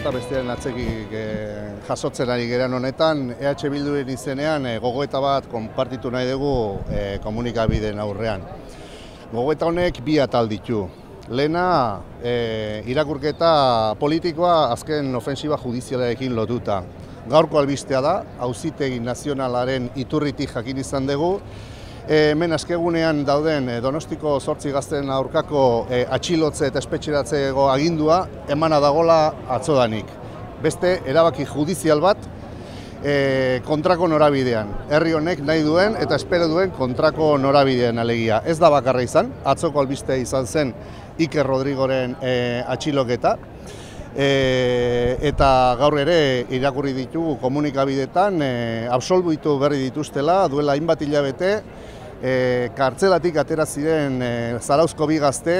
bata bestearen atzekik jasotzen ari geran honetan, EH Bilduren izenean gogoeta bat konpartitu nahi dugu komunikabideen aurrean. Gogoeta honek bi atal ditu. Lehena, irakurketa politikoa azken ofensiba judizialarekin lotuta. Gaurko albistea da, Auzitegi Nazionalaren iturritik jakin izan dugu, hemen askegunean dauden Donostiko 8 gazteen aurkako atxilotze eta espetxeratzeko agindua emana dagola atzodanik. Beste erabaki judizial bat kontrako norabidean. Herri honek nahi duen eta espero duen kontrako norabidean alegia. Ez da bakarra izan, atzoko albistea izan zen Iker Rodrigoren atxiloketa. Eta gaur ere irakurri ditugu komunikabidetan absolbitu berri dituztela, duela hainbat hilabete, kartzelatik atera ziren Zarauzko bi gazte,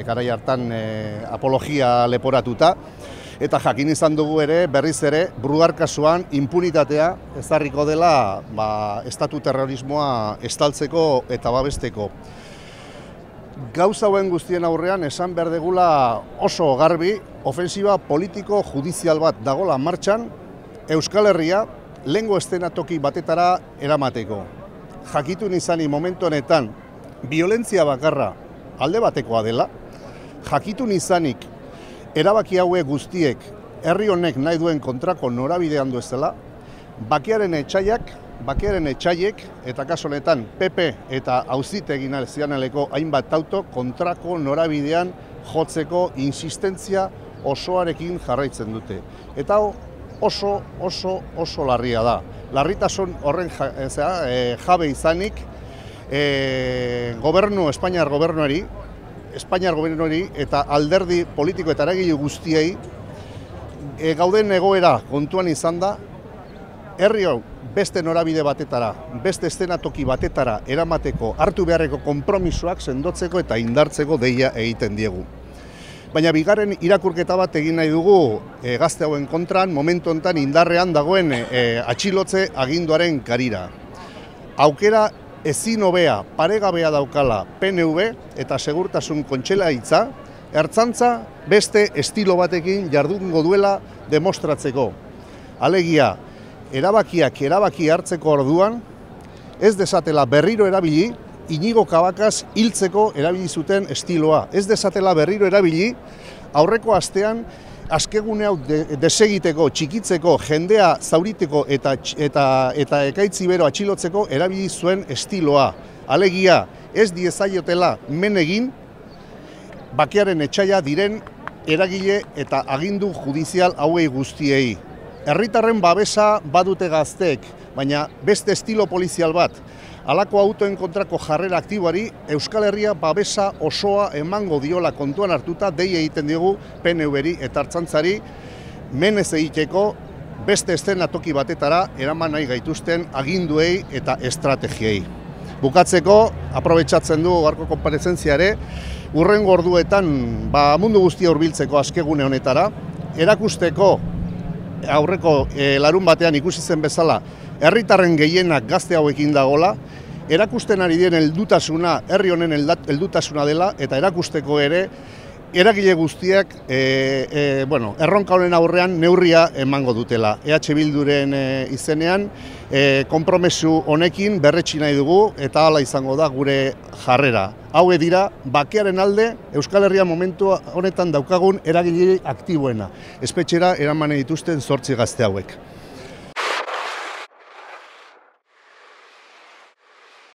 garai hartan apologia leporatuta, eta jakin izan dugu ere, berriz ere, Brugar kasuan impunitatea ezarriko dela estatu terrorismoa estaltzeko eta babesteko. Gauza hauen guztien aurrean esan behar degula oso garbi, ofensiba politiko-judizial bat dagola martxan, Euskal Herria lehengo eszenatoki batetara eramateko. Jakitun izani momentu honetan, biolentzia bakarra alde batekoa dela, jakitun izanik erabaki hauek guztiek herri honek nahi duen kontrako norabidean duezela, bakearen etxaiek, eta kaso honetan PP eta Auzitegi Nazionaleko hainbat auto kontrako norabidean jotzeko insistentzia osoarekin jarraitzen dute. Eta oso larria da. Larritasun horren jabe izanik Espainiar gobernuari eta alderdi politiko eta eragile guztiei gauden egoera kontuan izan da, herri hau beste norabide batetara, beste eszenatoki batetara eramateko hartu beharreko konpromisoak sendotzeko eta indartzeko deia egiten diegu. Baina bigarren irakurketa bat egin nahi dugu gazte hauen kontran, momentu honetan indarrean dagoen atxilotze aginduaren karira. Aukera ezin hobea, paregabea daukala PNV eta segurtasun kontseilaritza, ertzantza beste estilo batekin jardungo duela demostratzeko. Alegia, erabaki hartzeko orduan, ez desatela berriro erabili, Inigo Cabacas hiltzeko erabili zuten estiloa. Ez desatela berriro erabili, aurreko astean, askegune hau desegiteko, txikitzeko, jendea zauriteko eta ekaitzi bero atxilotzeko erabili zuen estiloa. Alegia, ez diezaiotela men egin, bakearen etxaia diren eragile eta agindu judizial hauei guztiei. Herritarren babesa badute gazteek, baina beste estilo polizial bat. Halako autoen kontrako jarrera aktiboari Euskal Herria babesa osoa emango diola kontuan hartuta dei egiten diogu PNV-ri eta Ertzaintzari menez egiteko beste eszenatoki batetara eraman nahi gaituzten aginduei eta estrategiei. Bukatzeko, aprobetxatzen du gaurko konparezentzia ere, hurrengo orduetan mundu guztia hurbiltzeko askegune honetara, erakusteko aurreko larun batean ikusi zen bezala, herritarren gehienak gazte hauekin dagola, erakusten ari den heldutasuna, herri honen heldutasuna dela, eta erakusteko ere, eragile guztiak erronka honen aurrean neurria emango dutela. EH Bilduren izenean, konpromesu honekin berretsi nahi dugu, eta hala izango da gure jarrera. Haue dira, bakearen alde, Euskal Herria momentu honetan daukagun eragile aktiboena. Espetxera eraman dituzten 8 gazte hauek.